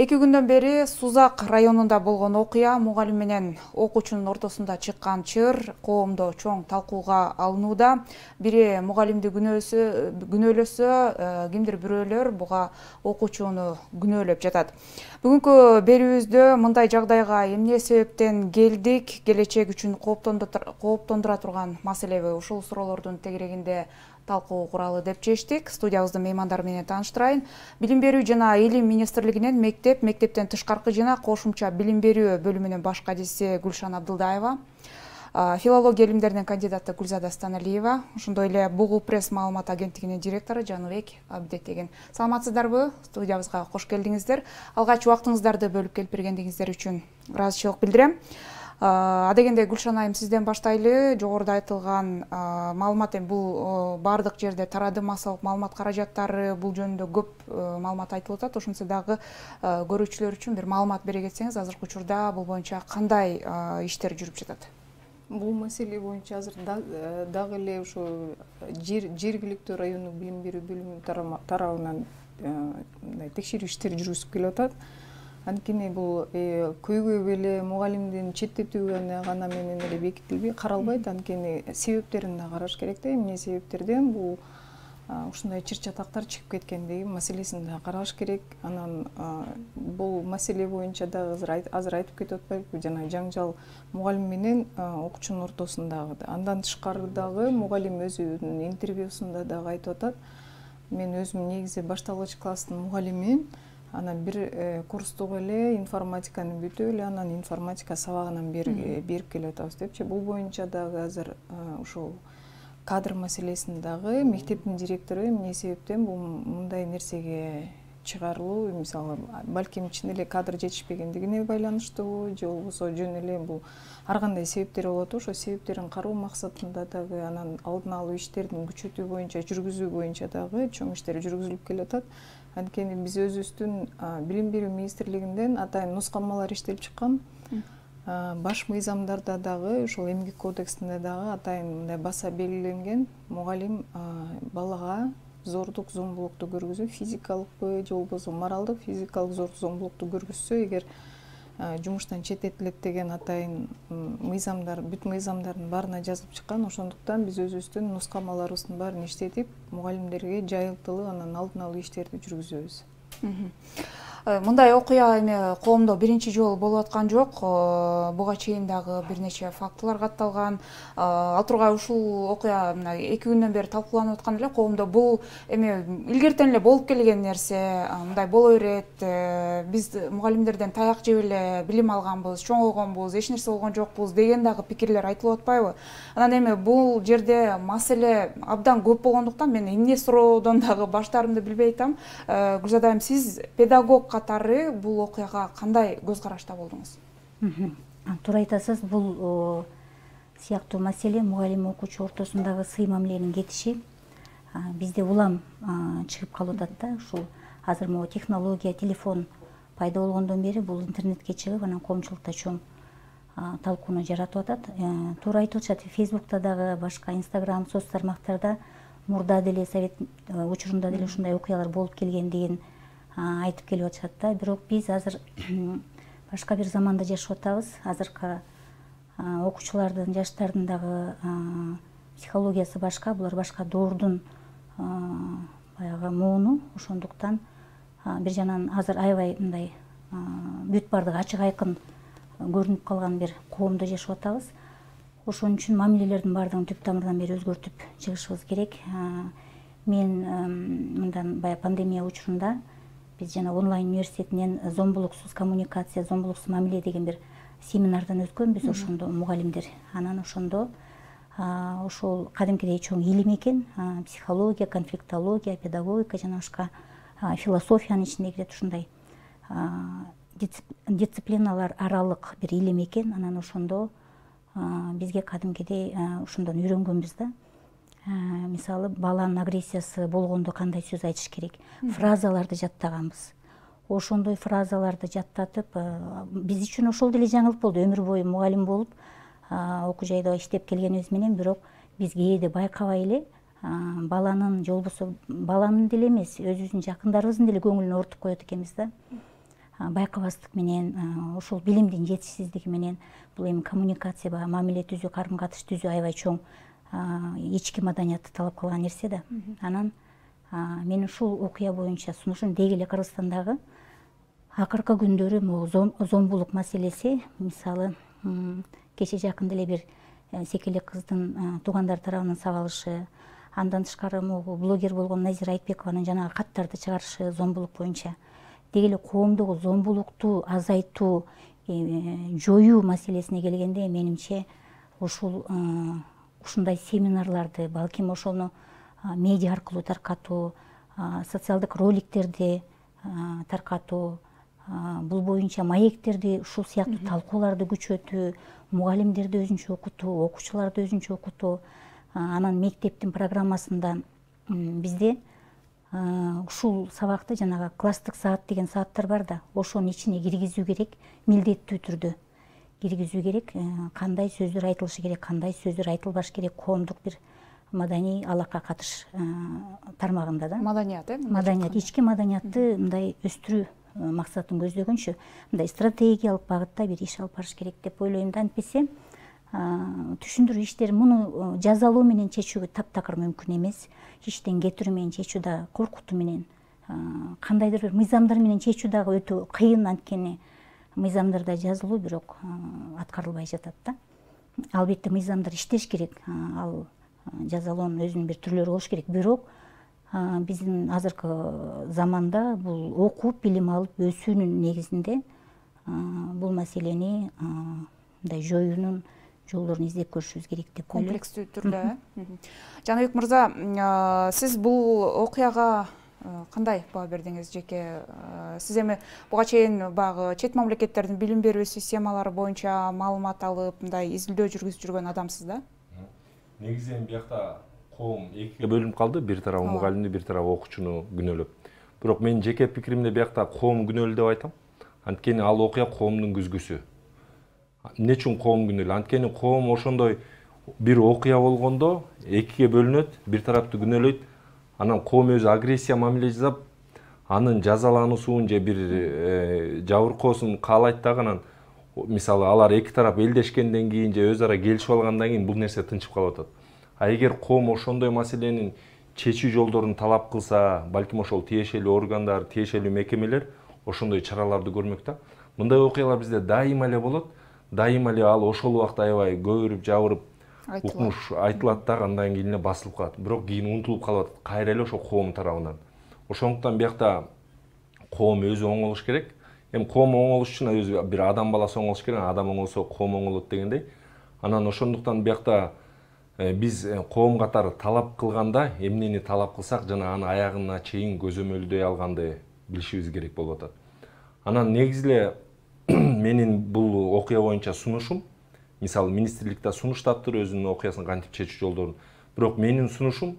2 күндөн бери Сузак районунда болгон окуя мугалим менен окуучунун ортосунда чыккан чыр коомдо чоң талкууга алынууда. Бири мугалимди күнөөлөсө, кимдир бирөөлөр буга окуучуну күнөөлөп жатат. Бүгүнкү берүүбүздө мындай жагдайга эмне себептен келдик, келечек үчүн кооптондура турган маселеби, ушул суроолордун тегерегинде талкуу куралы деп чечтик. Студиябыздын меймандары менен тааныштырайын. Билим берүү жана илим министрлигинен мектептен тышкаркы жана кошумча билим берүү бөлүмүнүн баш кадиси Гүлшан Абдылдаева, филология илимдеринин кандидаты Гүлзада Станалиева, ошондой эле Бугул пресс маалымат агенттигинин директору Жаныбек Абдетеген. Саламатсыздарбы? Студиябызга кош келдиңиздер. Алгач убактыңыздарды бөлүп келип бергендигиңиздер үчүн ыраазычылык билдирем. Адегенде Гүлшан айым, сизден баштайлы. Жогоруда айтылган маалымат бул бардык жерде тарады, массалык маалымат каражаттары бул жөнүндө көп маалымат айтылып атат. Ошентсе дагы көрүүчүлөр үчүн бир маалымат бере кетсеңиз, азыркы учурда бул боюнча кандай иштер жүрүп жатат? Бул маселе боюнча азыр дагы эле ошо жергиликтүү райондук билим берүү бөлүмү тарабынан текшерүү иштери жүргүзүлүп келип атат. Анткени бул көйгөй эле мугалимдин четтетүүгө гана менен эле бекитилбей каралбайт. Анткени себептерин да караш керек да, эмне себептерден бул ушундай чыр-чатактар чыгып кеткендиги маселесин да караш керек. Анан бул маселе боюнча дагы азыр айтып кетип атпайбызбы, жана жаңжал мугалим менен окуучунун ортосундагы. Андан тышкары дагы мугалим өзүнүн интервьюсунда дагы айтып атат. Мен өзүм негизи башталгыч класстын мугалимимин. Анан бир курстук эле информатиканы бүтүп эле анан информатика сабагынан берип келип атабыз депчи. Бул боюнча дагы азыр ушул кадр маселесин дагы мектептин директору эмне себептен бул мындай нерсеге чыгарылуу, мисалы, балким ичинде эле кадр жетишпегендигине байланыштуу, же болбосо жөн эле бул ар кандай себептер болот. Ошо себептерин кароо максатында дагы анан алдын алуу иштерин күчөтүү боюнча, жүргүзүү боюнча дагы чоң иштер жүргүзүлүп келип атат. Анткени биз өзүбүздүн билим берүү министрлигинден атайын нускамалар иштелип чыккан. Баш мыйзамдарда дагы, ошол эмгек кодексинде дагы атайын мындай баса белгиленген: мугалим балага зордук, зомбулукту көргүзүү, физикалыкпы же болбосо моралдык, физикалык зордук, зомбулукту көргөзсө, эгер жумуштан четтетилет деген атайын мыйзамдар, бүт мыйзамдардын баарына жазылып чыккан. Ошондуктан биз өзүбүздүн нускамаларыбыздын баарын иштетип, мугалимдерге жайылтылып, анан алдын алуу иштерди жүргүзөбүз. Мындай окуя эми коомдо биринчи жолу болуп аткан жок. Буга чейин дагы бир нече фактылар катталган. Ал тургай ушул окуя 2 күндөн бери талкууланып аткан эле коомдо. Бул эми илгертен эле болуп келген нерсе, мындай боло берет. Биз мугалимдерден таяк жеп эле билим алганбыз, чоңойгонбуз, эч нерсе болгон жокпуз деген дагы пикирлер айтылып атпайбы? Анан эми бул жерде маселе абдан көп болгондуктан мен эмне суроодон дагы баштаарымды билбей атам. Гүлзада айым, сиз педагог катары бул окуяга кандай көз карашта болдуңуз? Туура айтасыз, бул сыяктуу маселе мугалим окуучу ортосундагы сый мамиленин кетиши бизде улам чыгып калып атат да. Ушул азыр могу технология, телефон пайда болгондон бери бул интернетке чыгып, анан коомчулукта чоң талкууну жаратып атат. Туура айтылышат, Фейсбукта дагы, башка Инстаграм, соц тармактарда мурда деле совет учурунда деле ушундай окуялар болуп келгендигин айтып келип атышат да. Бирок биз азыр башка бир заманда жашап атабыз. Азыркы окуучулардын, жаштардын дагы психологиясы башка, булар башка доордун баягы мууну. Ошондуктан бир жанан азыр аябай мындай бүт бардыгы ачык айкын көрүнүп калган бир коомдо жашап атабыз. Ошон үчүн мамилелердин бардыгын түп тамырдан бери өзгөртүп чыгышыбыз керек. Мен мындан бая пандемия учурунда биз жана онлайн университетинен зомбулуксуз коммуникация, зомбулуксуз мамиле деген бир семинардан өткөнбүз. Ошондо мугалимдер, анан ошондо ошол кадимкидей чоң илим экен. Психология, конфликтология, педагогика жана башка философиянын ичине кирет. Ушундай дисциплиналар аралык бир илим экен. Анан ошондо бизге кадимкидей ошондон үйрөнгөнбүз да. Мисалы, баланын агрессиясы болгондо кандай сөз айтыш керек, фразаларды жаттаганбыз. Ошондой фразаларды жаттатып, биз үчүн ошол деле жаңылык болду. Өмүр бою мугалим болуп, окуу жайда иштеп келгенибиз менен, бирок биз кээде байкабай эле баланын, же болбосо баланын деле эмес, өзүбүздүн жакындарыбыздын деле көңүлүн ортуп коет экенбиз да. байкабастык менен, ошол билимдин жетишсиздиги менен бул эми коммуникация баягы мамиле түзүү, карым катыш түзүү аябай чоң ички маданиятты талап кылган нерсе да. Анан мен ушул окуя боюнча сунушум деги эле Кыргызстандагы акыркы күндөрү могу зомбулук маселеси, мисалы кече жакында эле бир секелек кыздын туугандары тарабынан сабалышы, андан тышкары могу блогер болгон Назира Айтбекованын жанагы каттарды чыгарышы зомбулук боюнча деги эле коомдогу зомбулукту азайтуу, жоюу маселесине келгенде менимче ушундай семинарларды, балким ошону медиа аркылуу таркатуу, социалдык роликтерди таркатуу, бул боюнча маектерди, ушул сыяктуу талкууларды күчөтүү, мугалимдерди өзүнчө окутуу, окуучуларды өзүнчө окутуу, анан мектептин программасында бизде ушул сабакты жанагы класстык саат деген сааттар бар да, ошонун ичине киргизүү керек, милдеттүү түрдө киргизүү керек. Кандай сөздөр айтылышы керек, кандай сөздөр айтылбаш керек, коомдук бир маданий алака катыш тармагында да. Маданият, маданият, ички маданиятты мындай өстүрүү максатын көздөгөнчө мындай стратегиялык багытта бир иш алып барыш керек деп ойлойм да. Антпесе түшүндүрүү иштери муну жазалоо менен чечүү таптакыр мүмкүн эмес. Иштен кетирүү менен чечүү да коркутуу менен, кандайдыр бир мыйзамдар менен чечүү дагы өтө кыйын, анткени мыйзамдарда жазылуу бирок аткарылбай жатат да. Албетте мыйзамдар иштеш керек, ал жазалоонун өзүнүн бир түрлөрү болуш керек. Бирок биздин азыркы заманда бул окуп, билим алып өсүүнүн негизинде бул маселени мындай жоюунун жолдорун издеп көрүшүбүз керек деп ойлойм. Комплекстүү түрдө. Жаныбек мырза, сиз бул окуяга кандай баа бердиңиз жеке? Сиз эми буга чейин баягы чет мамлекеттердин билим берүү системалары боюнча маалымат алып, мындай изилдөө жүргүзүп жүргөн адамсыз да? Негизи эми биякта коом экиге бөлүнүп калды, бир тарабы мугалимди, бир тарабы окуучуну күнөөлөп. Бирок менин жеке пикиримде биякта коом күнөөлүү деп айтам. Анткени ал окуя коомдун күзгүсү. Эмне үчүн коом күнөөлүү? Анткени коом ошондой бир окуя болгондо экиге бөлүнөт, бир тарапты күнөөлөйт, анан коом өзү агрессия мамиле жасап, анын жазалануусун же бир жабыркоосун каалайт дагы, анан мисалы алар эки тарап элдешкенден кийин же өз ара келишип алгандан кийин бул нерсе тынчып калып атат. А эгер коом ошондой маселенин чечүү жолдорун талап кылса, балким ошол тиешелүү органдар, тиешелүү мекемелер ошондой чараларды көрмөк да. Мындай окуялар бизде дайыма эле болот. Дайыма эле ал ошол убакта аябай көбүрүп, жабырып, укмуш айтылат дагы, андан кийин эле басылып калат. Бирок кийин унутулуп калып атат, кайра эле ошо коом тарабынан. Ошондуктан биякта коом өзү оңолуш керек. Эми коом оңолуш үчүн өзү бир адам баласы оңолуш керек, адам оңолсо коом оңолот дегендей. Анан ошондуктан биякта биз коом катары талап кылганда эмнени талап кылсак, жана аны аягына чейин көзөмөлдөй алганды билишибиз керек болуп атат. Анан негизи эле менин бул окуя боюнча сунушум, мисалы министрликте сунуштаптыр өзүнүн окуясын кантип чечүү жолдорун. Бирок менин сунушум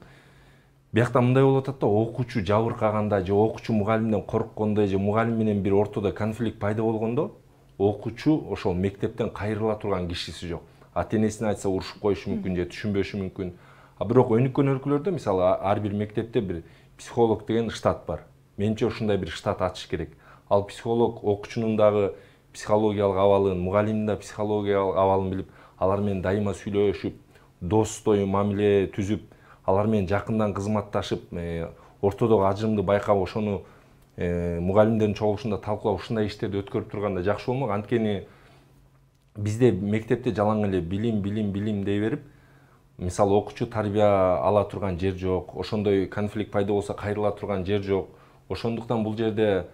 биякта мындай болуп атат да, окуучу жабыркаганда же окуучу мугалимден корккондо же мугалим менен бир ортодо конфликт пайда болгондо окуучу ошол мектептен кайрыла турган кишиси жок. Ата-энесине айтса урушуп коюшу мүмкүн же түшүнбөшү мүмкүн. Бирок өнүккөн өлкөлөрдө мисалы ар бир мектепте бир психолог деген штат бар. Менимче ушундай бир штат ачыш керек. Ал психолог окуучунун дагы психологиялык абалын, мугалимдин да психологиялык абалын билип, алар менен дайыма сүйлөшүп, достой мамиле түзүп, алар менен жакындан кызматташып, ортодогу ажырымды байкап, ошону мугалимдердин чогулушунда талкуулап, ушундай иштерди өткөрүп турганда жакшы болмок. Анткени бизде мектепте жалаң эле билим дей берип, мисалы окуучу тарбия ала турган жер жок, ошондой конфликт пайда болсо кайрыла турган жер жок. Ошондуктан бул жерде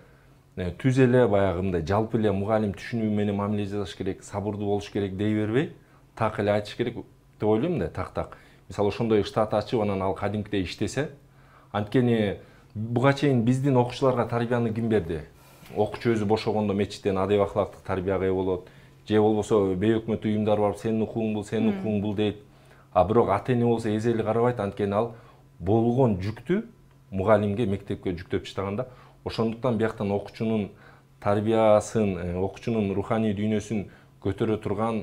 түз эле баягы мындай жалпы эле мугалим түшүнүү менен мамиле жасаш керек, сабырдуу болуш керек дей бербей, так эле айтыш керек деп ойлойм да, так. Мисалы ошондой штат ачып, анан ал кадимкидей иштесе, анткени буга чейин биздин окуучуларга тарбияны ким берди? Окуучу өзү бошогондо мечиттен адеп акылактык тарбияга ээ болот, же болбосо бейөкмөт уюмдар барып сенин укугуң бул дейт. Бирок ата-эне болсо эзели карабайт, анткени ал болгон жүктү мугалимге, мектепке жүктөп таштаганда. Ошондуктан бияктан окуучунун тарбиясын, окуучунун руханий дүйнөсүн көтөрө турган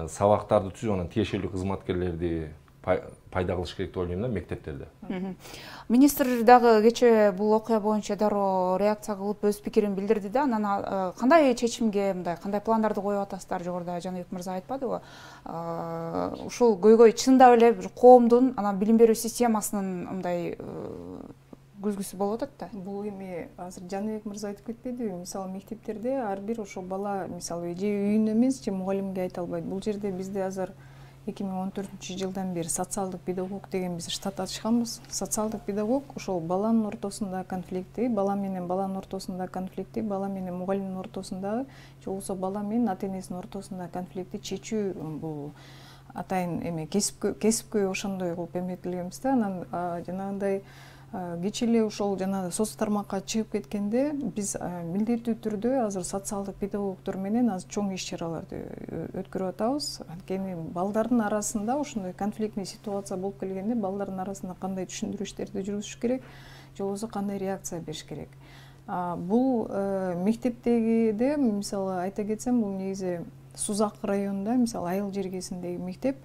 сабактарды түзүп, анан тиешелүү кызматкерлерди пайда кылыш керек деп ойлойм да мектептерде. Министр дагы кечээ бул окуя боюнча дароо реакция кылып өз пикирин билдирди да. Анан кандай чечимге, мындай кандай пландарды коюп атасыздар? Жогоруда Жаныбек мырза айтпадыбы? Ушул көйгөй чындап эле коомдун анан билим берүү системасынын мындай күзгүсү болуп атат да. Бул эми азыр Жаныбек мырза айтып кетпедиби? Мисалы мектептерде ар бир ошо бала мисалы же үйүнө эмес, же мугалимге айта албайт. Бул жерде бизде азыр 2014-жылдан бери социалдык педагог деген биз штат ачканбыз. Социалдык педагог ошол баланын ортосунда конфликтти, бала менен баланын ортосунда конфликтти, бала менен мугалимдин ортосунда, же болбосо бала менен ата-энесинин ортосунда конфликтти чечүү бул атайын эме кесипкөй ошондой кылып эметилгенбиз да. Анан жанагындай кечээ эле ошол жана соц тармакка чыгып кеткенде биз милдеттүү түрдө азыр социалдык педагогдор менен азыр чоң иш чараларды өткөрүп атабыз. Анткени балдардын арасында ошондой конфликтный ситуация болуп келгенде балдардын арасында кандай түшүндүрүү иштерди жүргүзүш керек, же болбосо кандай реакция бериш керек. Бул мектептегиде мисалы айта кетсем, бул негизи Сузак районунда мисалы Айыл жергесиндеги мектеп.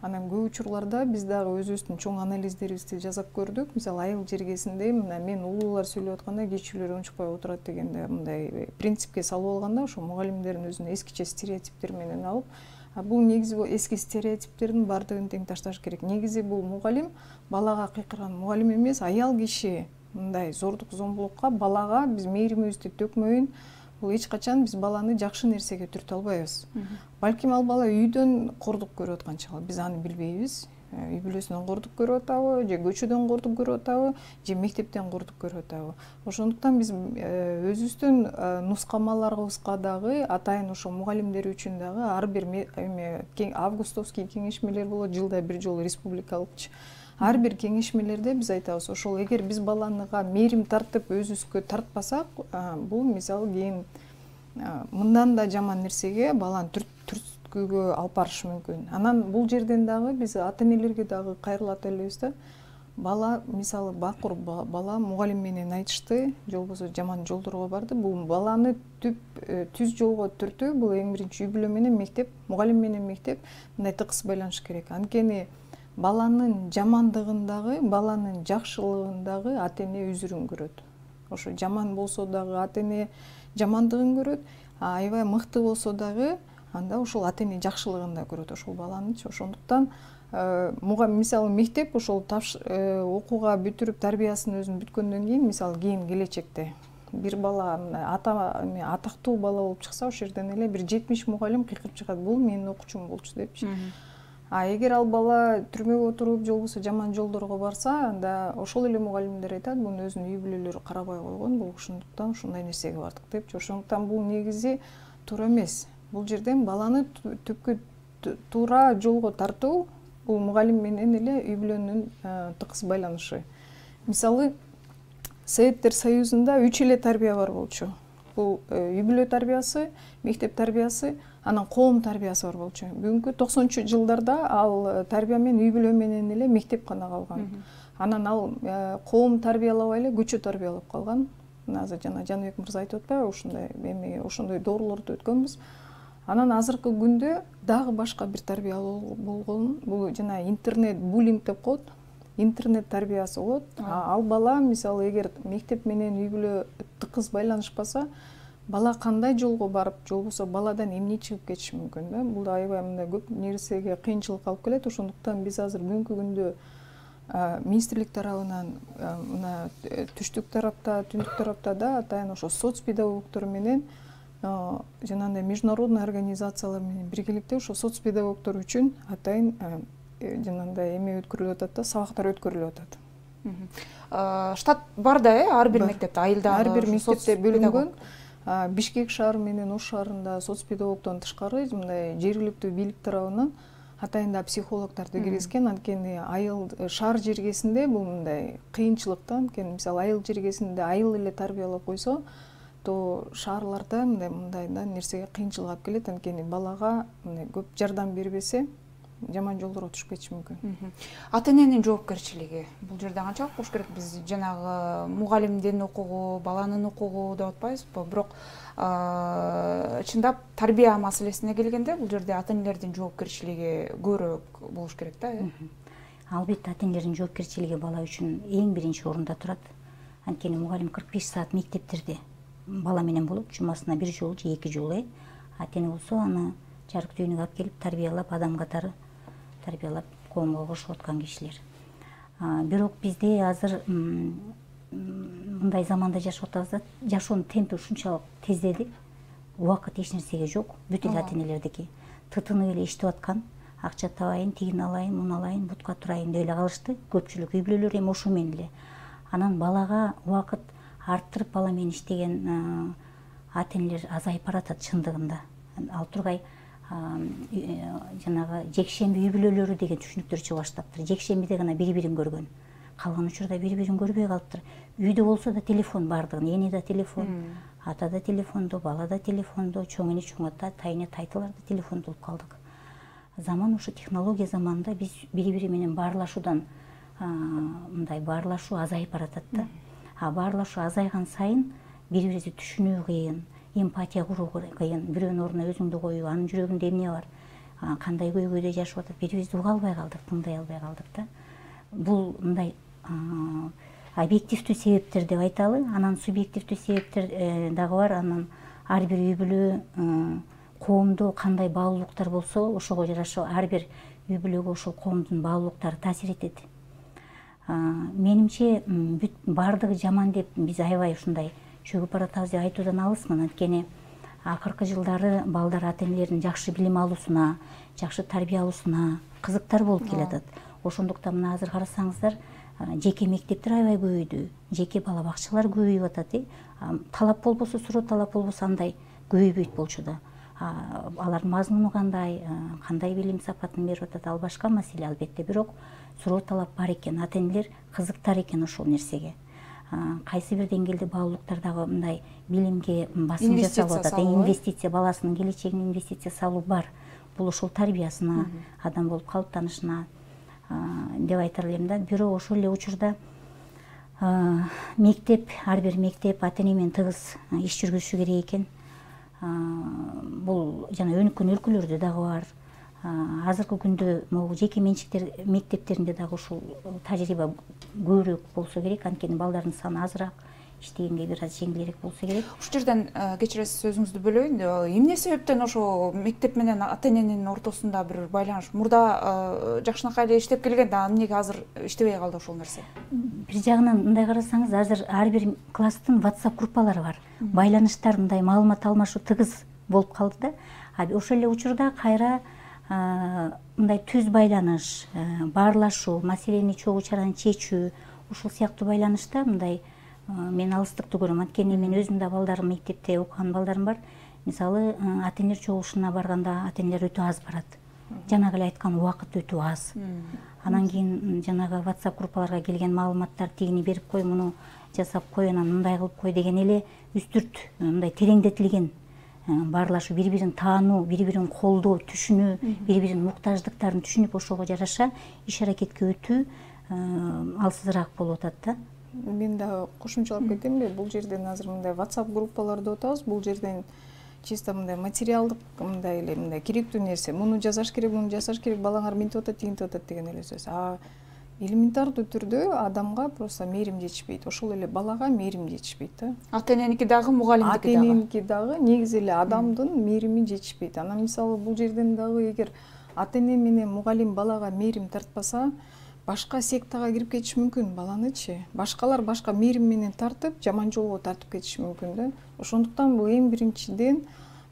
Анан көп учурларда биз дагы өзүбүздүн чоң анализдерибизди жасап көрдүк. Мисалы Айыл жергесинде мына мен улуулар сүйлөп атканда кичүүлөр унчукпай отурат дегенде мындай принципке салып алганда ошо мугалимдердин өзүнүн эскиче стереотиптер менен алып, бул негизи эски стереотиптердин баардыгын тең ташташ керек. Негизи бул мугалим балага кыйкырган мугалим эмес, аял киши мындай зордук зомбулукка балага биз мээримибизди төкмөйүн. Бул эч качан биз баланы жакшы нерсеге түртө албайбыз. Балким ал бала үйдөн кордук көрүп аткан чагы, биз аны билбейбиз. Үй бүлөсүнөн кордук көрүп атабы, же көчөдөн кордук көрүп атабы, же мектептен кордук көрүп атабы. Ошондуктан биз өзүбүздүн нускамаларыбызга дагы атайын ошо мугалимдер үчүн дагы ар бир августовский кеңешмелер болот, жылда бир жолу республикалыкчы. Ар бир кеңешмелерде биз айтабыз, ошол эгер биз баланыга мээрим тартып өзүбүзгө тартпасак, бул мисалы кийин мындан да жаман нерсеге баланы түрткүгө алып барышы мүмкүн. Анан бул жерден дагы биз ата-энелерге дагы кайрылат элебиз да. Бала мисалы бакур бала мугалим менен айтышты, же болбосо жаман жолдорго барды. Бул баланы түз жолго түртүү, бул эң биринчи үй бүлө менен мектеп, мугалим менен мектеп мындай тыкыз байланыш керек. Анткени баланын жамандыгындагы, баланын жакшылыгындагы ата-эне үзүрүн көрөт. Ошо жаман болсо дагы ата-эне жамандыгын көрөт, аябай мыкты болсо дагы анда ошол ата-эне жакшылыгын да көрөт ошол баланычы. Ошондуктан мисалы мектеп ошол окууга бүтүрүп тарбиясын өзүн бүткөндөн кийин, мисалы кийин келечекте бир бала атактуу бала болуп чыкса, ошол жерден эле бир 70 мугалим кыйкырып чыгат, бул менин окуучум болчу депчи. Эгер ал бала түрмөгө отуруп, же болбосо жаман жолдорго барса, анда ошол эле мугалимдер айтат, муну өзүнүн үй бүлөлөрү карабай койгон, бул ошондуктан ушундай нерсеге бардык депчи. Ошондуктан бул негизи туура эмес. Бул жерден баланы түпкү туура жолго тартуу, бул мугалим менен эле үй бүлөнүн тыкыз байланышы. Мисалы, Советтер Союзунда 3 эле тарбия бар болчу. Бул үй бүлө тарбиясы, мектеп тарбиясы, анан коом тарбиясы бар болчу. Бүгүнкү 90-жылдарда ал тарбия менен үй бүлө менен эле мектеп гана калган. Анан ал коом тарбиялабай эле көчө тарбиялап калган. Азыр жана Жаныбек мырза айтып атпайбы, ошондой доорлорду өткөнбүз. Анан азыркы күндө дагы башка бир тарбия болгон. Бул жана интернет буллинг деп коет. Интернет тарбиясы болот. Ал бала мисалы эгер мектеп менен үй бүлө тыкыз байланышпаса, бала кандай жолго барып, же болбосо баладан эмне чыгып кетиши мүмкүн да. Бул аябай мындай көп нерсеге кыйынчылык алып келет. Ошондуктан биз азыр бүгүнкү күндө министрлик тарабынан мына түштүк тарапта, түндүк тарапта да атайын ошо соц педагогдор менен жанагындай международный организациялар менен биргеликте ошо соц педагогдор үчүн атайын жанагындай эме өткөрүлүп атат да, сабактар өткөрүлүп атат. Штат бар да, ар бир мектепте, айылдагы ар бир мектепте бөлүнгөн. Бишкек шаар менен Ош шаарында соц педагогдон тышкары мындай жергиликтүү бийлик тарабынан атайын да психологдорду киргизген. Анткени айыл шаар жергесинде бул мындай кыйынчылык да. Анткени мисалы айыл жергесинде айыл эле тарбиялап койсо, то шаарларда мындай нерсеге кыйынчылык алып келет. Анткени балага көп жардам бербесе, жаман жолдорго түшүп кетиши мүмкүн. Ата-эненин жоопкерчилиги бул жерде канчалык болуш керек? Биз жанагы мугалимдин укугу, баланын укугу деп атпайбызбы? Бирок чындап тарбия маселесине келгенде бул жерде ата-энелердин жоопкерчилиги көбүрөөк болуш керек да. Албетте ата энелердин жоопкерчилиги бала үчүн эң биринчи орунда турат. Анткени мугалим 45 саат мектептерде бала менен болот, жумасына бир жолу же 2 жолу. Ата эне болсо аны жарык дүйнөгө алып келип тарбиялап, адам катары тарбиялап коомго кошуп аткан кишилер. Бирок бизде азыр мындай заманда жашап атабыз да, жашоонун темпи ушунчалык тездеди. Убакыт эч нерсеге жок. Бүт эле ата энелердики тытынып эле иштеп аткан. Акча табайын, тигин алайын, муну алайын, бутка турайын деп эле калышты. Көпчүлүк үй бүлөлөр эми ошо менен эле. Анан балага убакыт арттырып бала менен иштеген ата энелер азайып баратат чындыгында. Ал тургай жанагы жекшемби үй бүлөлөрү деген түшүнүктөр чыга баштаптыр. Жекшембиде гана бири-бирин көргөн. Калган учурда бири-бирин көрбөй калыптыр. Үйдө болсо да телефон бардыгын, эне да телефон, ата да телефондо, бала да телефондо, чоң эне чоң ата, тайыне тайтылар да телефондо болуп калдык. Заман ушу технология заманында биз бири-бири менен баарлашуудан мындай баарлашуу азайып баратат да. Баарлашуу азайган сайын бири-бирибизди түшүнүү кыйын, эмпатия куруу кыйын. Бирөөнүн ордуна өзүңдү коюп, анын жүрөгүндө эмне бар, кандай көйгөйдө жашап атат, бирибизди уга албай калдык, тыңдай албай калдык да. Бул мындай объективдүү себептер деп айталы, анан субъективдүү себептер дагы бар. Анан ар бир үй бүлө, коомдо кандай баалуулуктар болсо, ошого жараша ар бир үй бүлөгө ошол коомдун баалуулуктары таасир этет. Менимче бүт бардыгы жаман деп биз аябай ушундай чөгүп баратабыз деп айтуудан алысмын. Анткени акыркы жылдары балдар ата энелердин жакшы билим алуусуна, жакшы тарбия алуусуна кызыктар болуп келатат. Ошондуктан мына азыр карасаңыздар, жеке мектептер аябай көбөйдү, жеке бала бакчалар көбөйүп атат. Талап болбосо, суроо талап болбосо андай көбөйбөйт болчу да. Алардын мазмуну кандай билим сапатын берип атат, ал башка маселе албетте. Бирок суроо талап бар экен, ата энелер кызыктар экен ошол нерсеге. Кайсы бир деңгээлде баалуулуктар дагы мындай билимге басым жасалып атат. Инвестиция, баласынын келечегине инвестиция салуу бар. Бул ошол тарбиясына, адам болуп калыптанышына деп айтар элем да. Бирок ошол эле учурда мектеп, ар бир мектеп ата эне менен тыгыз иш жүргүзүшү керек экен. Бул жана өнүккөн өлкөлөрдө дагы бар. Азыркы күндө могу жеке менчиктер мектептеринде дагы ушул тажрыйба көбүрөөк болсо керек. Анткени балдардын саны азыраак, иштегенге бир аз жеңилирээк болсо керек. Ушул жерден кечиресиз, сөзүңүздү бөлөйүн. Эмне себептен ошо мектеп менен ата эненин ортосунда бир байланыш? Мурда жакшынакай эле иштеп келген да, эмнеге азыр иштебей калды ошол нерсе? Бир жагынан мындай карасаңыз, азыр ар бир класстын WhatsApp группалары бар. Байланыштар мындай маалымат алмашуу тыгыз болуп калды да. Ошол эле учурда кайра мындай түз байланыш, баарлашуу, маселени чогуу чараны чечүү, ушул сыяктуу байланышта мындай мен алыстыкты көрөм. Анткени мен өзүм да балдарым мектепте окуган балдарым бар. Мисалы, ата энелер чогулушуна барганда ата энелер өтө аз барат. Жанагы эле айткан убакыт өтө аз. Анан кийин жанагы WhatsApp группаларга келген маалыматтар тигини берип кой, муну жасап кой, анан мындай кылып кой деген эле үстүрт мындай тереңдетилген баарлашуу, бири-бирин таануу, бири-бирин колдоо, түшүнүү, бири-биринин муктаждыктарын түшүнүп, ошого жараша иш аракетке өтүү алсызыраак болуп атат да. Мен да кошумчалап кетемби? Бул жерден азыр мындай WhatsApp группалар деп атабыз. Бул жерден чисто мындай материалдык мындай эле мындай керектүү нерсе. Муну жасаш керек, муну жасаш керек, балаңар минтип атат, тигинтип атат деген эле сөз. Элементардуу түрдө адамга просто мээрим жетишпейт. Ошол эле балага мээрим жетишпейт да. Ата эненики дагы, мугалимдики дагы. Ата эненики дагы, негизи эле адамдын мээрими жетишпейт. Анан мисалы бул жерден дагы эгер ата эне менен мугалим балага мээрим тартпаса, башка сектага кирип кетиши мүмкүн баланычы. Башкалар башка мээрим менен тартып, жаман жолго тартып кетиши мүмкүн да. Ошондуктан бул эң биринчиден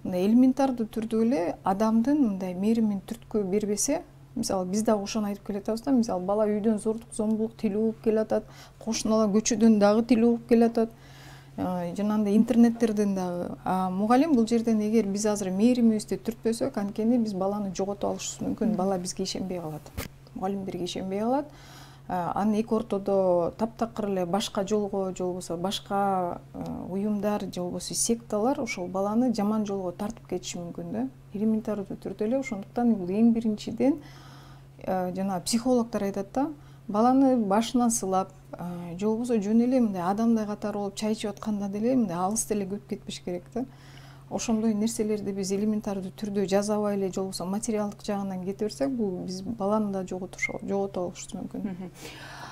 мындай элементардуу түрдө эле адамдын мындай мээримин түрткү бербесе, мисалы биз дагы ошону айтып келатабыз да. Мисалы бала үйдөн зордук, зомбулук тилүү угуп келатат, кошуналар көчөдөн дагы тилүү угуп келатат. Жанагындай интернеттерден дагы. Мугалим бул жерден эгер биз азыр мээримибизди түртпөсөк, анткени биз баланы жогото алышыбыз мүмкүн. Бала бизге ишенбей калат. Мугалимдерге ишенбей калат. Анын эки ортодо таптакыр эле башка жолго, же болбосо башка уюмдар, же болбосо секталар ошол баланы жаман жолго тартып кетиши мүмкүн да. Элементардуу түрдө эле. Ошондуктан бул эң биринчиден жана психологдор айтат да, баланы башынан сылап, же болбосо жөн эле мындай адамдай катары болуп чай ичип атканда деле мындай алыс деле көп кетпеш керек да. ошондой нерселерди биз элементардуу түрдө жазабай эле же болбосо материалдык жагынан кете берсек, бул биз баланы да жогото болушубуз мүмкүн.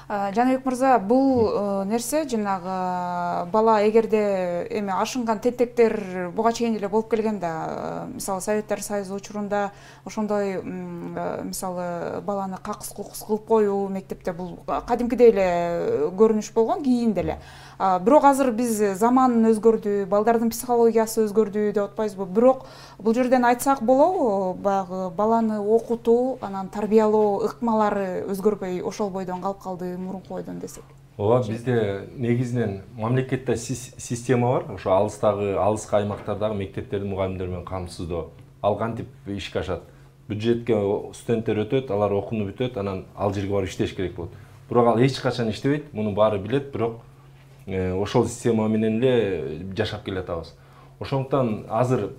Жаныбек мырза, бул нерсе жанагы бала эгерде эми ашынган тентектер буга чейин эле болуп келген да. Мисалы Советтер Союзу учурунда ошондой мисалы баланы какыс кукус кылып коюу мектепте бул кадимкидей эле көрүнүш болгон, кийин деле. Бирок азыр биз заман өзгөрдү, балдардын психологиясы өзгөрдү деп атпайбызбы? Бирок бул жерден айтсак болобу, баягы баланы окутуу, анан тарбиялоо ыкмалары өзгөрбөй ошол бойдон калып калды мурунку бойдон десек? Ооба, бизде негизинен мамлекетте система бар. Ошо алыскы аймактардагы мектептердин мугалимдери менен камсыздоо. Ал кантип ишке ашат? Бюджетке студенттер өтөт, алар окууну бүтөт, анан ал жерге барып иштеш керек болот. Бирок ал эч качан иштебейт, муну баары билет, бирок ошол система менен эле жашап келатабыз. Ошондуктан азыр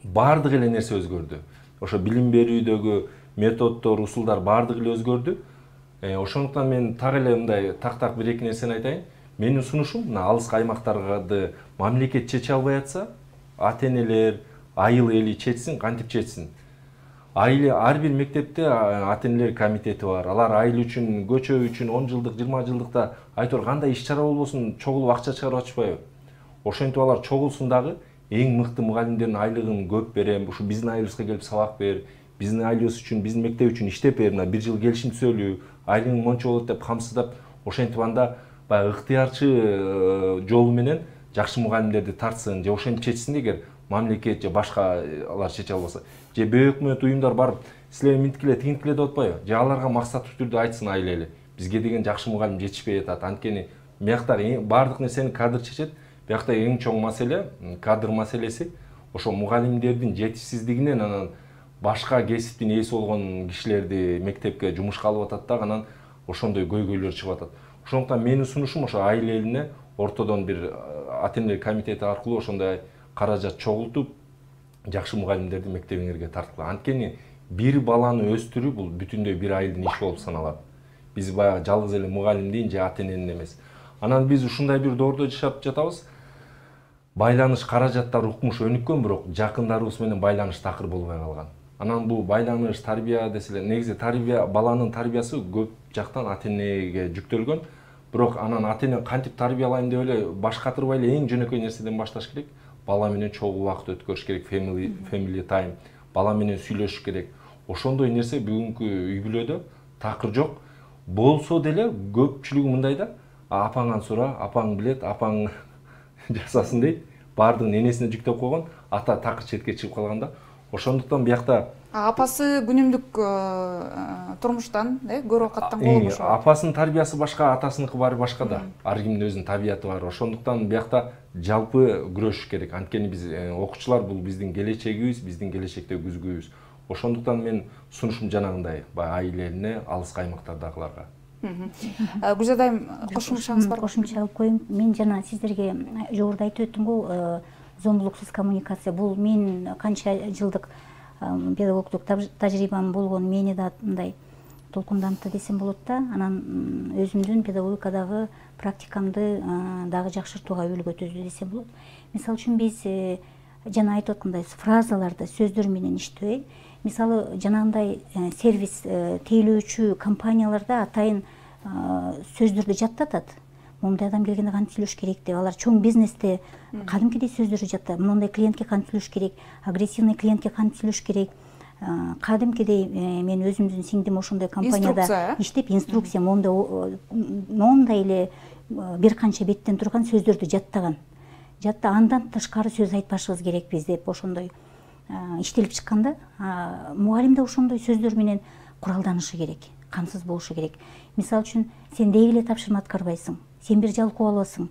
баардык эле нерсе өзгөрдү. Ошо билим берүүдөгү методдор, усулдар баардык эле өзгөрдү. Ошондуктан мен так эле мындай так бир эки нерсени айтайын. Менин сунушум, мына алыскы аймактарды мамлекет чече албай атса, ата-энелер, айыл эли чечсин, кантип чечсин. Ар бир мектепте ата-энелер комитети бар. Алар айыл үчүн, көчө үчүн 10 жылдык, 20 жылдыкта айтор кандай иш-чара болбосун чогулуп акча чыгарып атышпайбы? Ошентип алар чогулсун дагы, эң мыкты мугалимдердин айлыгын көп берем, ушу биздин айылыбызга келип сабак бер, биздин айылыбыз үчүн, биздин мектеп үчүн иштеп бер, бир жыл келишим түзөлүү, айлыгың монча болот деп камсыздап, ошентип анда баягы ыктыярчы жолу менен жакшы мугалимдерди тартсын, же ошентип чечсин эгер мамлекет же башка алар чече албаса. Же бейөкмөт уюмдар барып, силер минткиле, тигинткиле деп атпайбы? Же аларга максаттуу түрдө айтсын айыл эли. Бизге деген жакшы мугалим жетишпей атат. Анткени биякта баардык нерсени кадр чечет. Биякта эң чоң маселе кадр маселеси. Ошо мугалимдердин жетишсиздигинен анан башка кесиптин ээси болгон кишилерди мектепке жумушка алып атат да, анан ошондой көйгөйлөр чыгып атат. Ошондуктан менин сунушум ошо айыл элине ортодон бир ата-энелер комитети аркылуу ошондой каражат чогултуп, жакшы мугалимдерди мектебиңерге тарткыла. Анткени бир баланы өстүрүү бул бүтүндөй бир айылдын иши болуп саналат. Биз баягы жалгыз эле мугалимдин же ата-эненин эмес. Анан биз ушундай бир доордо жашап жатабыз. Байланыш каражаттар укмуш өнүккөн, бирок жакындарыбыз менен байланыш такыр болбой калган. Анан бул байланыш, тарбия деселер, негизи баланын тарбиясы көп жактан ата-энеге жүктөлгөн. Бирок анан ата-эне кантип тарбиялайм деп эле баш катырбай эле эң жөнөкөй нерседен башташ керек. Бала менен чогуу убакыт өткөрүш керек, family time, бала менен сүйлөшүш керек. Ошондой нерсе бүгүнкү үй бүлөдө такыр жок. Болсо деле көпчүлүгү мындайда, апаңан сура, апаң билет, апаң жасасын дейт. Баардыгын энесине жүктөп койгон, ата такыр четке чыгып калганда. Ошондуктан биякта апасы күнүмдүк турмуштан, көрүп каттан болуп ошо. Апасынын тарбиясы башка, атасыныкы баары башка да. Ар кимдин өзүнүн табияты бар. Ошондуктан биякта жалпы күрөшүш керек. Анткени биз окуучулар бул биздин келечегибиз, биздин келечектеги күзгүбүз. Ошондуктан мен сунушум жанагындай, айыл элине, алыскы аймактардагыларга. Гүлзада айым, кошумчаңыз бар? Кошумча алып коеюн. Мен жана сиздерге жогоруда айтып өттүм го, зомбулуксуз коммуникация. Бул мен канча жылдык педагогдук тажрыйбам болгон мени да мындай толкундантты десем болот да. Анан өзүмдүн педагогикадагы практикамды дагы жакшыртууга үлгү түздү десем болот. Мисалы үчүн биз жана айтып аткандай фразаларды сөздөр менен иштебей, мисалы жанагындай сервис тейлөөчү компанияларда атайын сөздөрдү жаттатат. Мондай адам келгенде кантип сүйлөш керек деп, алар чоң бизнесте кадимкидей сөздөрдү жаттап, мондай клиентке кантип сүйлөш керек, агрессивный клиентке кантип сүйлөш керек, кадимкидей мен өзүмдүн сиңдим ошондой компанияда иштеп, инструкция мондай эле бир канча беттен турган сөздөрдү жаттаган. Андан тышкары сөз айтпашыбыз керекпиз деп ошондой иштелип чыкканда, мугалим да ошондой сөздөр менен куралданышы керек, камсыз болушу керек. Мисалы үчүн, сен деги эле тапшырма аткарбайсың, сен бир жалкоо аласың,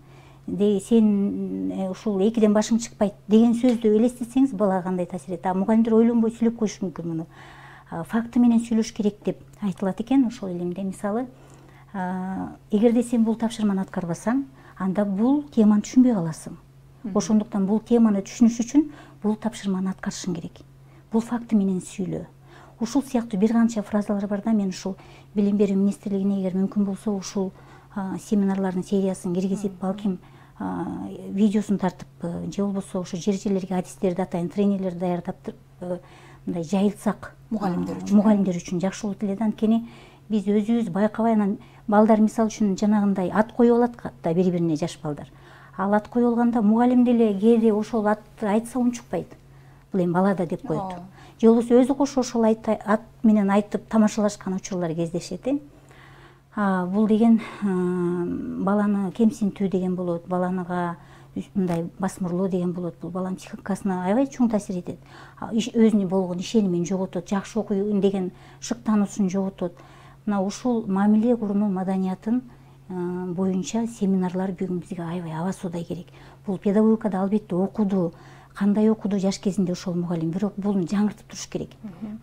сен ушул экиден башың чыкпайт деген сөздү элестетсеңиз, балага кандай таасир этет? Мугалимдер ойлонбой сүйлөп коюшу мүмкүн муну. Факты менен сүйлөш керек деп айтылат экен ошол илимде. Мисалы, эгерде сен бул тапшырманы аткарбасаң, анда бул теманы түшүнбөй каласың. Ошондуктан бул теманы түшүнүш үчүн бул тапшырманы аткарышың керек. Бул факты менен сүйлөө. Ушул сыяктуу бир канча фразалар бар да, мен ушул билим берүү министрлигине эгер мүмкүн болсо ушул семинарлардын сериясын киргизип, балким видеосун тартып же болбосо ошо жерлерге адистерди атайын тренерлерди даярдап мындай жайылтсак мугалимдер үчүн жакшы болот эле да. Анткени биз өзүбүз байкабай анан балдар мисалы үчүн жанагындай ат коюп алат да бири бирине жаш балдар. Ал ат коюп алганда мугалим деле кээде ошол атты айтса унчукпайт. Бул эми балада деп коет. Же болбосо өзү кошо ошол ат менен айтып тамашалашкан учурлар кездешет. Бул деген баланы кемсинтүү деген болот, баланыга мындай басмырлоо деген болот. Бул баланын психикасына аябай чоң таасир этет. Өзүнө болгон ишенимин жоготот, жакшы окуйм деген шыктануусун жоготот. Мына ушул мамиле куруу маданиятын боюнча семинарлар бүгүн бизге аябай абасуудай керек. Бул педагогикада албетте окуду, кандай окуду жаш кезинде ошол мугалим, бирок буну жаңыртып туруш керек.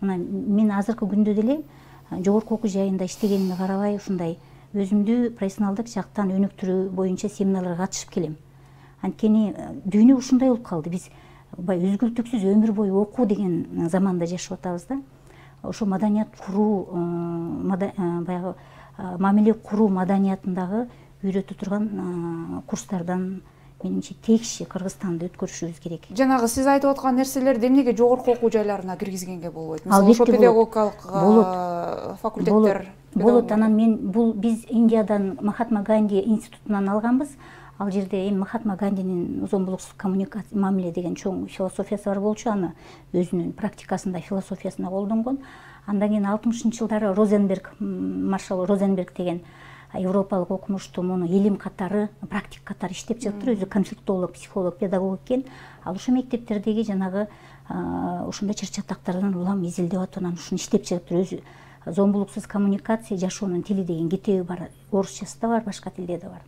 Мына мен азыркы күндө деле жогорку окуу жайында иштегениме карабай ушундай өзүмдү профессионалдык жактан өнүктүрүү боюнча семинарларга катышып келем. Анткени дүйнө ушундай болуп калды. Биз үзгүлтүксүз өмүр бою окуу деген заманда жашап атабыз да. Ошо маданият куруу, баягы мамиле куруу маданиятындагы үйрөтө турган курстардан менимче текши Кыргызстанды өткөрүшүбүз керек. Жанагы сиз айтып аткан нерселерди эмнеге жогорку окуу жайларына киргизгенге болбойт? Мисалы ошо педагогикалык факультеттер болот. Анан биз Индиядан Махатма Ганди институтунан алганбыз. Ал жерде эми Махатма Гандинин зомбулуксуз коммуникация мамиле деген чоң философиясы бар болчу, аны өзүнүн практикасында философиясына колдонгон. Андан кийин 60-жылдары маршал Розенберг деген европалык окумушту муну илим катары, практик катары иштеп чыгыптыр. Өзү конфликтолог, психолог, педагог экен. Ал ошо мектептердеги жанагы ошондой чыр-чатактардан улам изилдеп атып, анан ушуну иштеп чыгыптыр. Өзү зомбулуксуз коммуникация, жашоонун тили деген китеби бар. Орусчасы да бар, башка тилде да бар.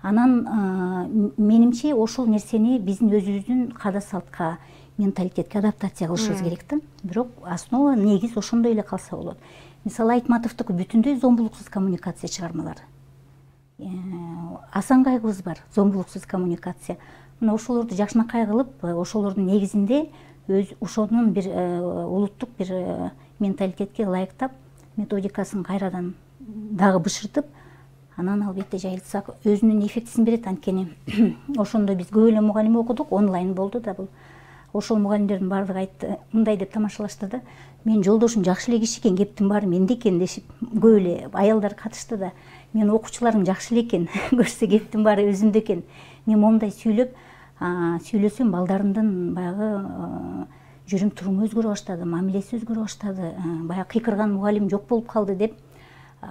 Анан менимче ошол нерсени биздин өзүбүздүн каада салтка, менталитетке адаптация кылышыбыз керек да. Бирок основа негиз ошондой эле калса болот. Мисалы Айтматовдуку бүтүндөй зомбулуксуз коммуникация чыгармалары. Асанкайгыбыз бар, зомбулуксуз коммуникация. Мына ошолорду жакшынакай кылып, ошолордун негизинде ошонун бир улуттук бир менталитетке ылайыктап, методикасын кайрадан дагы бышыртып, анан албетте жайылтсак өзүнүн эффектисин берет. Анткени ошондо биз көп эле мугалим окудук, онлайн болду да бул. Ошол мугалимдердин баардыгы айтты, мындай деп тамашалашты да. Мен жолдошум жакшы эле киши экен, кептин баары менде экен дешип, көп эле аялдар катышты да. Мен окуучуларым жакшы эле экен, көрсө кептин баары өзүмдө экен. Мен момундай сүйлөсөм балдарымдын баягы жүрүм туруму өзгөрө баштады, мамилеси өзгөрө баштады, баягы кыйкырган мугалим жок болуп калды деп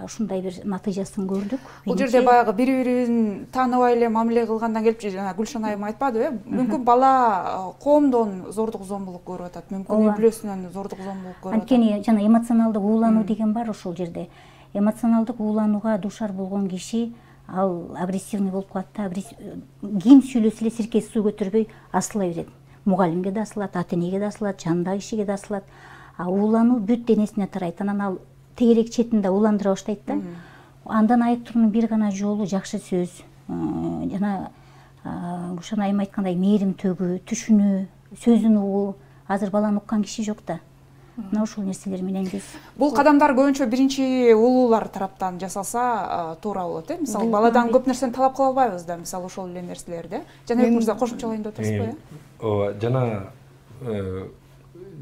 ушундай бир натыйжасын көрдүк. Бул жерде баягы бири-бирин тааныбай эле мамиле кылгандан келип, жана Гүлшан айым айтпадыбы? Мүмкүн бала коомдон зордук зомбулук көрүп атат, мүмкүн үй бүлөсүнөн зордук зомбулук көрүп атат. Анткени жана эмоционалдык уулануу деген бар ошол жерде. Эмоционалдык ууланууга дуушар болгон киши ал агрессивный болуп калат да. Ким сүйлөсө эле сиркеси суу көтөрбөй асыла берет. Мугалимге да асылат, ата-энеге да асылат, жанындагы кишиге да асылат. Уулануу бүт денесине тарайт. Анан ал тегерек четинде уландыра баштайт да. Андан айыктоонун бир гана жолу жакшы сөз, жана Гүлшан айым айткандай мээрим төгүү, түшүнүү, сөзүн угуу. Азыр баланы уккан киши жок да. Мына ошол нерселер менен биз. Бул кадамдар көбүнчө биринчи улуулар тараптан жасалса туура болот, Мисалы баладан көп нерсени талап кыла албайбыз да, мисалы ошол эле нерселерди. Жаныбек мырза кошумчалайын деп атасызбы? Ооба, жана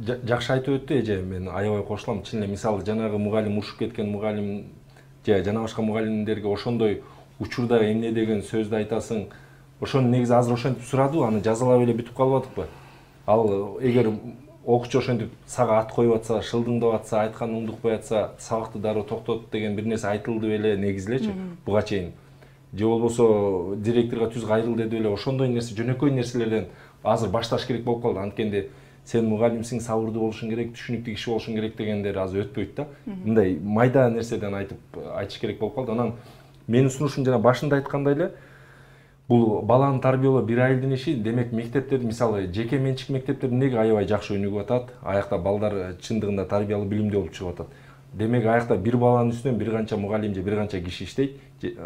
жакшы айтып өттү эже, мен аябай кошулам. Чын эле мисалы жанагы мугалим, урушуп кеткен мугалим же жана башка мугалимдерге ошондой учурда эмне деген сөздү айтасың, ошону негизи азыр ошентип сурадыбы, аны жазалап эле бүтүп калып атыкпы? Ал эгер окуучу ошентип сага ат коюп атса, шылдыңдап атса, айтканын угдукпай атса, сабакты дароо токтот деген бир нерсе айтылды беле негизи элечи буга чейин. Же болбосо директорго түз кайрыл деди беле, ошондой нерсе, жөнөкөй нерселерден азыр башташ керек болуп калды. Анткенде сен мугалимсиң, сабырдуу болушуң керек, түшүнүктүү киши болушуң керек дегендер азыр өтпөйт да. Мындай майда нерседен айтыш керек болуп калды. Анан менин сунушум жана башында айткандай эле, бул баланы тарбиялоо бир айылдын иши. Демек мектептерди, мисалы жеке менчик мектептерди неге аябай жакшы өнүгүп атат? Аякта балдар чындыгында тарбиялуу билимдүү болуп чыгып атат. Демек аякта бир баланын үстүнөн бир канча мугалим же бир канча киши иштейт.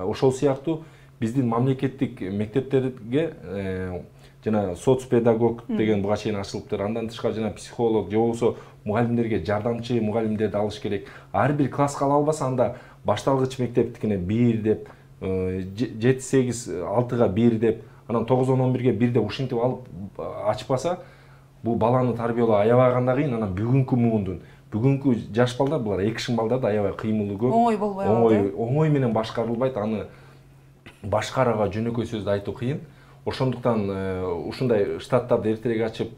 Ошол сыяктуу биздин мамлекеттик мектептерге жана соцпедагог деген буга чейин ачылыптыр. Андан тышкары жана психолог же болбосо мугалимдерге жардамчы мугалимдерди алыш керек. Ар бир класска ала албаса, анда башталгыч мектептикине 1 деп, 7-8-6-га 1 деп, анан 9-10-11-ге 1 деп ушинтип алып ачпаса, бул баланы тарбиялоо аябай гана кыйын. Анан бүгүнкү муундун, бүгүнкү жаш балдар, булар экшин балдар да аябай кыймылы көп. Оңой болбой калат. Оңой менен башкарылбайт. Аны башкарууга жөнөкөй сөздү айтуу кыйын. Ошондуктан ушундай штаттарды эртерээк ачып,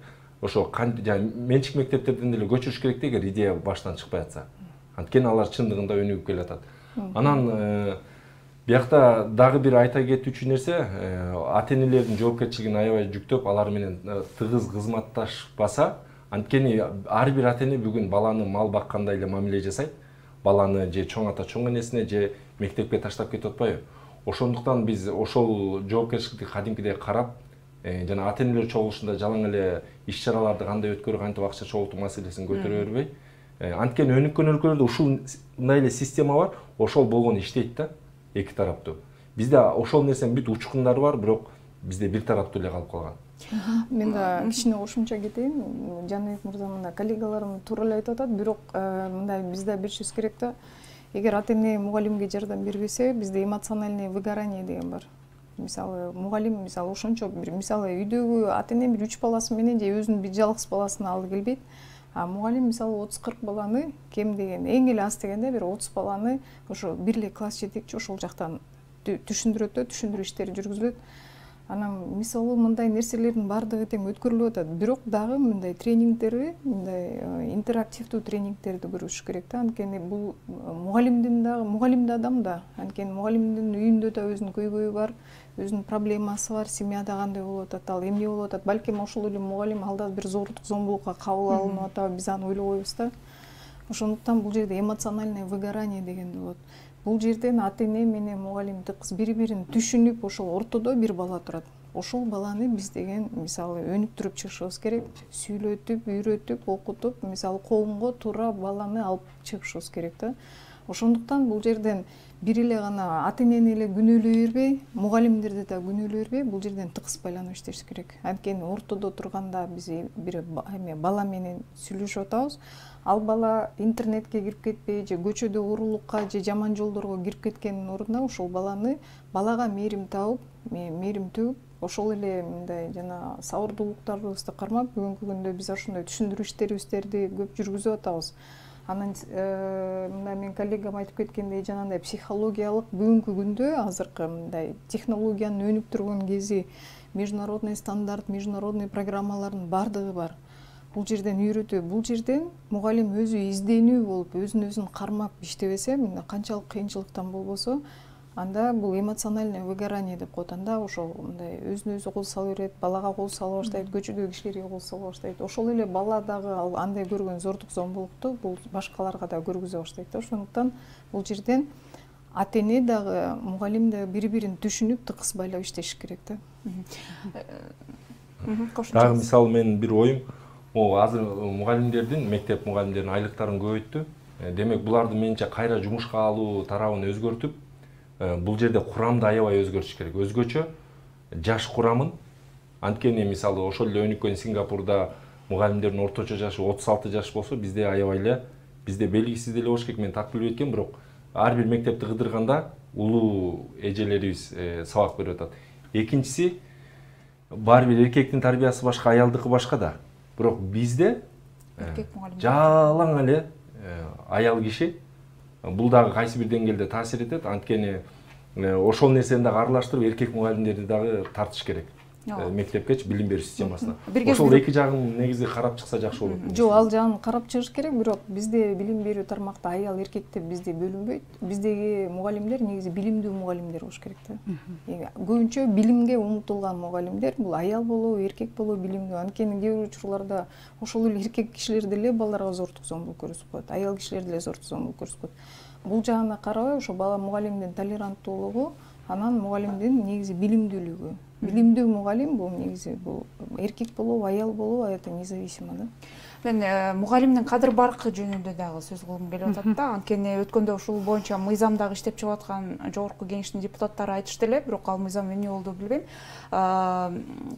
ошо менчик мектептерден деле көчүрүш керек эгер идея баштан чыкпай атса. Анткени алар чындыгында өнүгүп келатат. Анан биякта дагы бир айта кетүүчү нерсе, ата-энелердин жоопкерчилигин аябай жүктөп, алар менен тыгыз кызматташпаса, анткени ар бир ата-эне бүгүн баланы мал баккандай эле мамиле жасайт. Баланы же чоң ата чоң энесине, же мектепке таштап кетип атпайбы? Ошондуктан биз ошол жоопкерчиликти кадимкидей карап, жана ата-энелер чогулушунда жалаң эле иш-чараларды кандай өткөрүү, кантип акча чогултуу маселесин көтөрө бербей, анткени өнүккөн өлкөлөрдө ушундай эле система бар, ошол болгону иштейт да, эки тараптуу. Бизде ошол нерсенин бүт учкундары бар, бирок бизде бир тараптуу эле калып калган. Мен да кичине кошумча кетейин. Жаныбек мырза мына коллегаларым туура эле айтып атат, бирок мындай бизде билишибиз керек да. Эгер ата-эне мугалимге жардам бербесе, бизде эмоциональное выгорание деген бар. Мисалы, мугалим ошончо бир үйдөгү ата-эне бир 3 баласы менен же өзүнүн бир жалгыз баласын алып келбейт. А мугалим мисалы 30-40 баланы, кем деген, эң эле аз дегенде бир 30 баланы ошо бир эле класс жетекчи ошол жактан түшүндүрөт да, түшүндүрүү иштери жүргүзүлөт. Анан мисалы мындай нерселердин баардыгы тең өткөрүлүп атат. Бирок дагы мындай тренингтерди, мындай интерактивдүү тренингтерди көрүш керек да. Анткени бул мугалимде адам да. Анткени мугалимдин үйүндө да өзүнүн көйгөйү бар, өзүнүн проблемасы бар, семьяда кандай болуп атат, ал эмне болуп атат. Балким ошол эле мугалим алда бир зордук, зомбулукка кабыл алынып атабы, биз аны ойлобойбуз да. Ошондуктан бул жерде эмоциональное выгорание деген болот. Бул жерден ата-эне менен мугалим тыкыз бири-бирин түшүнүп, ошол ортодо бир бала турат. Ошол баланы биз деген мисалы өнүктүрүп чыгышыбыз керек. Сүйлөтүп, үйрөтүп, окутуп, мисалы коомго туура баланы алып чыгышыбыз керек да. Ошондуктан бул жерден бир эле гана ата-энени эле күнөөлөй бербей, мугалимдерди да күнөөлөй бербей, бул жерден тыкыз байланып иштеш керек. Анткени ортодо турганда биз бир бала менен сүйлөшүп атабыз. Ал бала интернетке кирип кетпей, же көчөдө уурулукка, же жаман жолдорго кирип кеткендин ордуна ошол балага мээрим табып, мээрим төгүп, ошол эле мындай жана сабырдуулуктарыбызды кармап, бүгүнкү күндө биз ошондой түшүндүрүү иштерибизди көп жүргүзүп атабыз. Анан мындай мен коллегам айтып кеткендей, жанагындай психологиялык бүгүнкү күндө азыркы мындай технологиянын өнүп турган кези, международный стандарт, международный программалардын баардыгы бар. Бул жерден үйрөтүү, бул жерден мугалим өзү изденүү болуп, өзүн кармап иштебесе, мында канчалык кыйынчылыктан болбосо, анда бул эмоциональное выгорание деп коет. Анда ошол мындай өзүн кол сала берет, балага кол сала баштайт, көчөдөгү кишилерге кол сала баштайт. Ошол эле бала дагы андай көргөн зордук, зомбулукту бул башкаларга да көргүзө баштайт да. Ошондуктан бул жерден ата-эне дагы, мугалим дагы бири-бирин түшүнүп, тыкыз байлап иштеш керек да. Дагы мисалы менин бир оюм, азыр мугалимдердин, мектеп мугалимдеринин айлыктарын көбөйттү. Демек, буларды менче кайра жумушка алуу тарабын өзгөртүп, бул жерде курамды аябай өзгөртүш керек. Өзгөчө жаш курамын. Анткени мисалы ошол эле өнүккөн Сингапурда мугалимдердин орточо жашы 36 жаш болсо, бизде аябай эле, бизде белгисиз деле болуш керек. Мен так билбей эткем, бирок ар бир мектепти кыдырганда улуу эжелерибиз сабак берип атат. Экинчиси, баары бир эркектин тарбиясы башка, аялдыкы башка да. Бирок бизде жалаң эле аял киши, бул дагы кайсы бир деңгээлде таасир этет. Анткени ошол нерсени дагы аралаштырып, эркек мугалимдерди дагы тартыш керек мектепкечи билим берүү системасына. Ошол эки жагын негизи карап чыкса жакшы болот. Жок, ал жагын карап чыгыш керек, бирок бизде билим берүү тармакта аял эркек деп бизде бөлүнбөйт. Биздеги мугалимдер негизи билимдүү мугалимдер болуш керек да. Көбүнчө билимге умтулган мугалимдер бул аял болобу, эркек болобу билимдүү. Анткени кээ бир учурларда ошол эле эркек кишилер деле балдарга зордук, зомбулук көрсөтүп коет. Аял кишилер деле зордук, зомбулук көрсөтүп коет. Бул жагына карабай, ошо бала мугалимдин толеранттуулугу, анан мугалимдин негизи билимдүүлүгү. билимдүү мугалим бул негизи бул эркек болобу, аял болобу, это независимо да. Мен мугалимдин кадыр баркы жөнүндө дагы сөз кылгым келип атат да. Анткени өткөндө ушул боюнча мыйзамдагы иштеп чыгып аткан жогорку кеңештин депутаттары айтышты эле, бирок ал мыйзам эмне болду билбейм.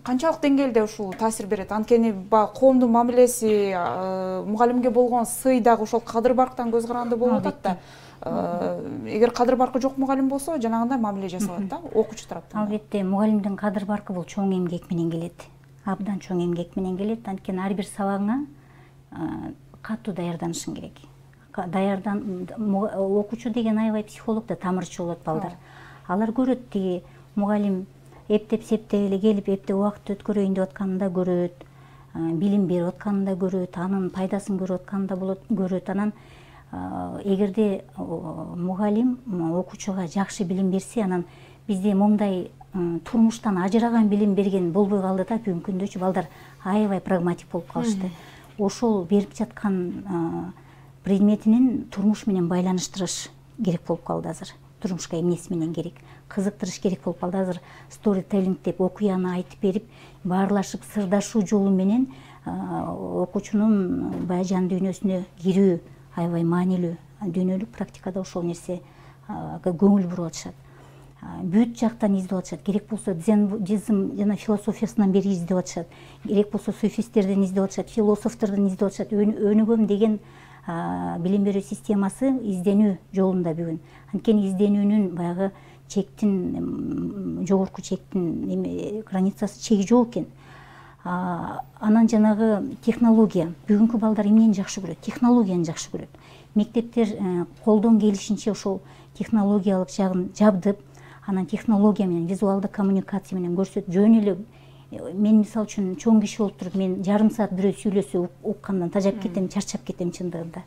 Канчалык деңгээлде ушул таасир берет? Анткени баягы коомдун мамилеси, мугалимге болгон сый дагы ошол кадыр барктан көз каранды болуп атат да. Эгер кадыр баркы жок мугалим болсо, жанагындай мамиле жасалат да, окуучу тараптан. Албетте, мугалимдин кадыр баркы бул чоң эмгек менен келет. Абдан чоң эмгек менен келет. Анткени ар бир сабагыңа катуу даярданышың керек. Окуучу деген аябай психолог да, тамырчы болот балдар. Алар көрөт тиги мугалим эптеп септеп эле келип, эптеп убакыт өткөрөйүн деп атканын да көрөт, билим берип атканын да көрөт, анын пайдасын көрүп атканын да көрөт. Анан эгерде мугалим окуучуга жакшы билим берсе, анан бизде момундай турмуштан ажыраган билим берген болбой калды да. Бүгүнкү күндөчү балдар аябай прагматик болуп калышты. Ошол берип жаткан предметинин турмуш менен байланыштырыш керек болуп калды азыр. Турмушка эмнеси менен керек, кызыктырыш керек болуп калды азыр. Сторителлинг деп окуяны айтып берип, баарлашып сырдашуу жолу менен окуучунун баягы жан дүйнөсүнө кирүү аябай маанилүү. Дүйнөлүк практикада ошол нерсе көңүл буруп атышат. Бүт жактан издеп атышат. Керек болсо дзенбудизм жана философиясынан бери издеп атышат. Керек болсо суфисттерден издеп атышат, философтордон издеп атышат. Өнүгөм деген билим берүү системасы изденүү жолунда бүгүн. Анткени изденүүнүн баягы чектин, жогорку чектин границасы, чеги жок экен. Анан жанагы технология. Бүгүнкү балдар эмнени жакшы көрөт? Технологияны жакшы көрөт. Мектептер колдон келишинче ошол технологиялык жагын жабдып, анан технология менен, визуалдык коммуникация менен көрсөтүп, жөн эле мен мисалы үчүн чоң киши болуп туруп, мен жарым саат бирөө сүйлөсө уккандан тажап кетем, чарчап кетем чындыгында.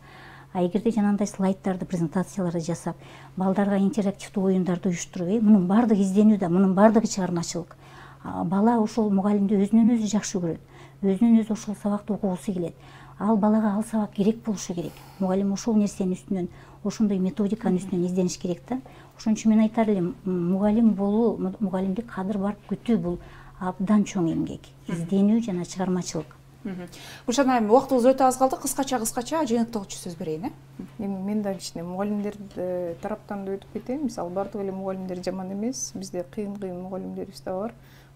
Эгерде жанагындай слайддарды, презентацияларды жасап, балдарга интерактивдүү оюндарды уюштуруп, мунун баардыгы изденүү да, мунун баардыгы чыгармачылык. Бала ошол мугалимди өзүнөн өзү жакшы көрөт. Өзүнөн өзү ошол сабакты окугусу келет. Ал балага ал сабак керек болушу керек. Мугалим ошол нерсенин үстүнөн, ошондой методиканын үстүнөн издениш керек да. Ошон үчүн мен айтар элем, мугалим болуу, мугалимдик кадыр барып күтүү бул абдан чоң эмгек, изденүү жана чыгармачылык. Гүлшан айым, убактыбыз өтө аз калды. Кыскача жыйынтыгычы сөз берейин. Мен да кичине мугалимдер тараптан да өтүп кетейин. Мисалы бардык эле мугалимдер жаман эмес. Бизде кыйын мугалимдерибиз да бар.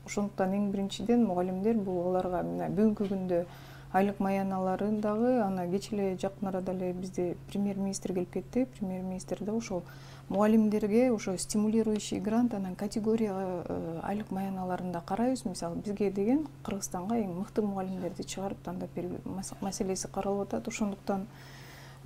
Ошондуктан эң биринчиден мугалимдер бул аларга мына бүгүнкү күндө айлык маяналарын дагы, ана кеч эле жакын арада эле бизде премьер-министр келип кетти. Премьер-министр да ошол мугалимдерге ошо стимулирующий грант, анан категория айлык маяналарын да карайбыз. Мисалы бизге деген Кыргызстанга эң мыкты мугалимдерди чыгарып тандап берүү маселеси каралып атат. Ошондуктан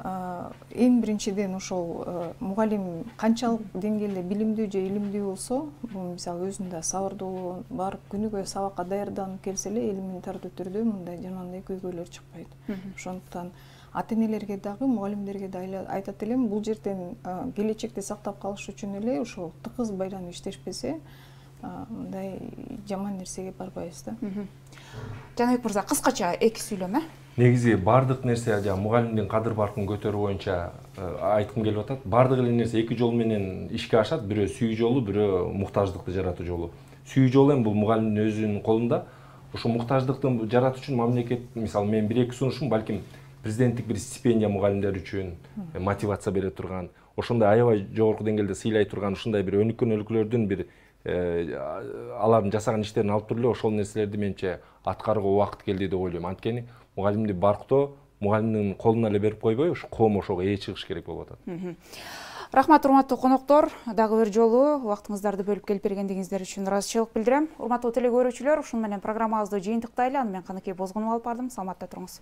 эң биринчиден ошол мугалим канчалык деңгээлде билимдүү же илимдүү болсо, бул мисалы өзүндө сабырдуу барып күнүгө сабакка даярданып келсе эле элементардуу түрдө мындай жанагындай көйгөйлөр чыкпайт. Ошондуктан ата-энелерге дагы, мугалимдерге да айтат элем, бул жерден келечекте сактап калыш үчүн эле ошол тыгыз байланып иштешпесе, мындай жаман нерсеге барбайбыз да. Жаныбек мырза, кыскача эки сүйлөм. Негизи бардык нерсе мугалимдин кадыр баркын көтөрүү боюнча айткым келип атат. Бардык эле нерсе эки жол менен ишке ашат. Бирөө сүйүү жолу, бирөө муктаждыкты жаратуу жолу. Сүйүү жолу эми бул мугалимдин өзүнүн колунда. Ошо муктаждыкты жаратуу үчүн мамлекет, мисалы мен бир-эки сунушум, балким президенттик бир стипендия мугалимдер үчүн мотивация бере турган, ошондой аябай жогорку деңгээлде сыйлай турган ушундай бир өнүккөн өлкөлөрдүн бир алардын жасаган иштерин алып туруп эле ошол нерселерди менче аткарууга убакыт келди деп ойлойм. Анткени мугалимди барктоо мугалимдин колуна эле берип койбой, ушу коом ошого ээ чыгыш керек болуп атат. Рахмат, урматтуу коноктор. Дагы бир жолу убактыңыздарды бөлүп келип бергендигиңиздер үчүн ыраазычылык билдирем. Урматтуу телекөрүүчүлөр, ушуну менен программабызды жыйынтыктайлы. Аны мен Каныкей Бозгунова алып бардым. Саламатта туруңуз.